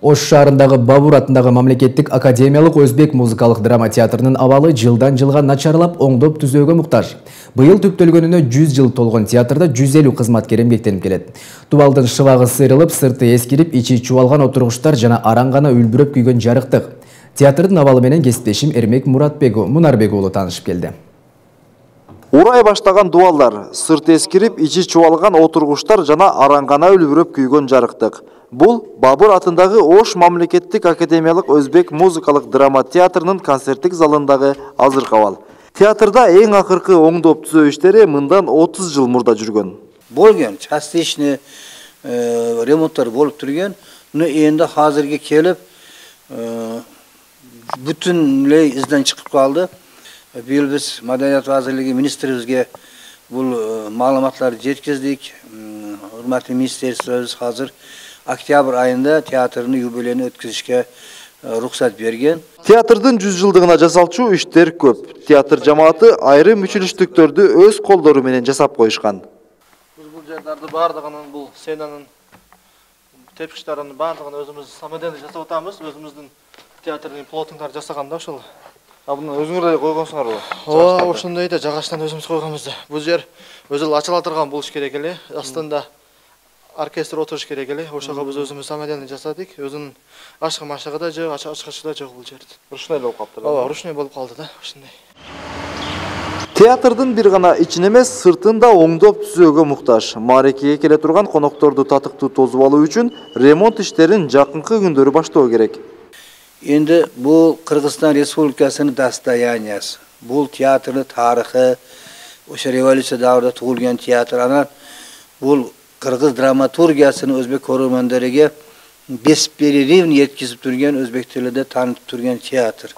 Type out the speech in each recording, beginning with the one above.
Ош шаарындагы Бабур атындагы мамлекеттик академиялык өзбек музыкалык драма театрынын абалы жылдан жылга начарлап оңдоп түзөөгө муктаж. Быйыл түптөлгөнүнө 100 жыл толгон театрда 150 кызматкер эмгектенип келет. Тубалдын шыбагы сырылып, сырты эскирип, ичи чубалган отургучтар жана аран гана үлбүрөп күйгөн жарыктык. Театрдын абалы менен кесиптешим Эрмек Мунарбек уулу таанышып келди. Урай баштаган дубалдар, сырт эскирип, ичи чубалган отургучтар жана аран гана үлбүрөп күйгөн жарыктык. Бул Бабур атындагы Ош мамлекеттик академиялык өзбек музыкалык драма театрынын концерттик залындагы азыркы абал. Театрда эң акыркы оңдоп түзөө иштери мындан 30 жыл мурда жүргөн. Болгон, частичный ремонттар болуп турган, но энди азыркы келип бүтүнлөй изден чыгып калды. Быйыл биз Маданият вазирлиги министрибизге бул маалыматларды жеткиздик. Урматтуу министрлигибиз азыр октябрь айында театрдын юбилейин өткүзүшкө рухсат берген. Театрдын 100 жылдыгына жасалчу иштер көп. Театр жамааты айрым мүчүлүштүктөрдү өз колдору менен жасап коюшкан. Бул жерлерди бардыгынын, бул сценанын тепкичтеринин бардыгын өзүбүз самодельно жасап атабыз. Өзүбүздүн театрдын плотингдарды жасаган да ошол. Буну өзүңөр эле койгонсуңарбы? Ооба, ошондой да жагачтан өзүбүз койгонбуз да. Бул жер өзү ачыла турган болуш керек эле. Астында оркестр отуруш керек эле. Ошого биз өзүбүз самодельно жасадык. Өзүнүн ашыгы да жок, ачкычы да жок бул жерде. Ручной болуп калыптыр. Ооба, ручной болуп калды да, ошондой. Театрдын бир гана ичин эмес, сыртын да оңдоп түзөөгө муктаж. Маарекеге келе турган конокторду татыктуу тосуп алуу үчүн ремонт иштерин жакынкы күндөрү баштоо керек. Endi bu Kırgızistan Respublikasının dastoyaniyasi. Bu teatrning tarixi, o'sha revolyutsiya davrida tug'ilgan teatr. Ana bu Kırgız dramaturgiyasini o'zbek ko'rg'onlariga besperiривно yetkazib turgan, o'zbek tilida tanitib turgan teatr.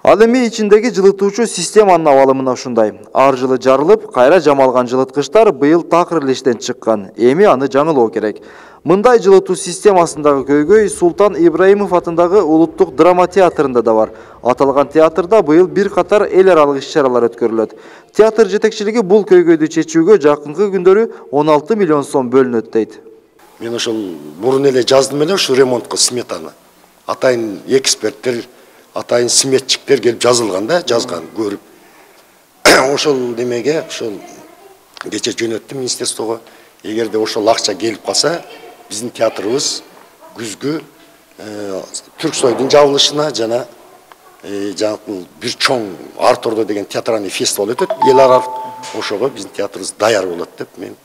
Ал эми ичиндеги жылытуучу системанын абалы мына ушундай. Ар жылы жарылып, кайра жамалган жылыткычтар быйыл такыр эле иштен чыккан. Эми аны жаңылоо керек. Мындай жылытуу системасындагы көйгөй Султан Ибраимов атындагы улуттук драма театрында да бар. Аталган театрда быйыл бир катар эл аралык иш-чаралар өткөрүлөт. Театр жетекчилиги бул көйгөйдү чечүүгө жакынкы күндөрү 16 миллион сом бөлүнөт дейт. Мен ошол мурун эле жаздым эле ушу ремонтко сметаны. Атайын эксперттер, атайын сметчиктер келип жазылган да, жазган, көрүп. Ошол демеге, ошол кече жөнөттүм министрликтого. Эгерде ошол акча келип калса, биздин театрыбыз күзгү Түрксойдун жабылышына жана бир чоң Артордо деген театральный фестиваль өтөт, эл аралык. Ошого биздин театрыбыз даяр болот деп мен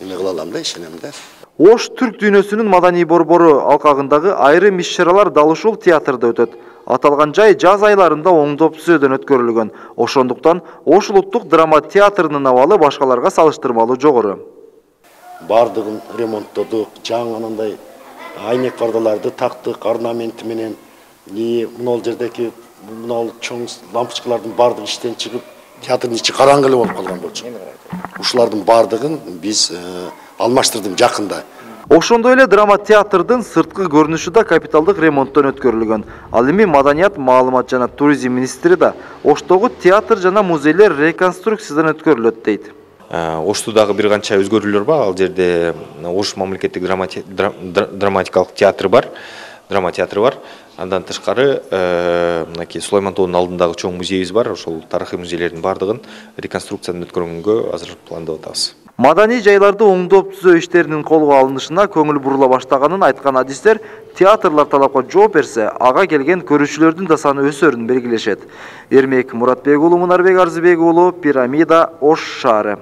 эме кыла алам да, ишенем да. Ош түрк дүйнөсүнүн маданий борбору алкагындагы айрым иш-чаралар дал ушул театрда өтөт. Аталган жай жаз айларында оңдоп түзөөдөн өткөрүлгөн. Ошондуктан Ош улуттук драма театрынын абалы башкаларга салыштырмалуу жогору. Бардыгын ремонттодук, жаңындай айнек пардаларды тактык, орнаменти менен, мына жердеки мына чоң лампочкалардын бардыгы иштен чыгып, театрдын ичи караңгы эле болуп калган болчу. Ушулардын бардыгын биз алмаштырдым жакында. Ошондой эле драма театрдын сырткы көрүнүшү да капиталдык ремонттон өткөрүлгөн. Ал эми Маданият, маалымат жана туризм министри да Оштогу театр жана музейлер реконструкциядан өткөрүлөт дейт. Ошто дагы бир канча өзгөрүүлөр бар. Ал жерде Ош мамлекеттик драматикалык театры бар, драма театры бар. Андан тышкары мынакей Сулайман тоонун алдындагы чоң музейибиз бар. Ошол тарыхый музейлердин бардыгын реконструкциядан өткөргөнгө азыр пландап атабыз. Маданий жайларды оңдоп түзөө иштеринин колго алынышына көңүл бурула баштаганын айткан адистер театрлар талапка жооп берсе, ага келген көрүүчүлөрдүн да саны өсөрүн белгилешет. Эрмек Мунарбек уулу, Пирамида, Ош шаары.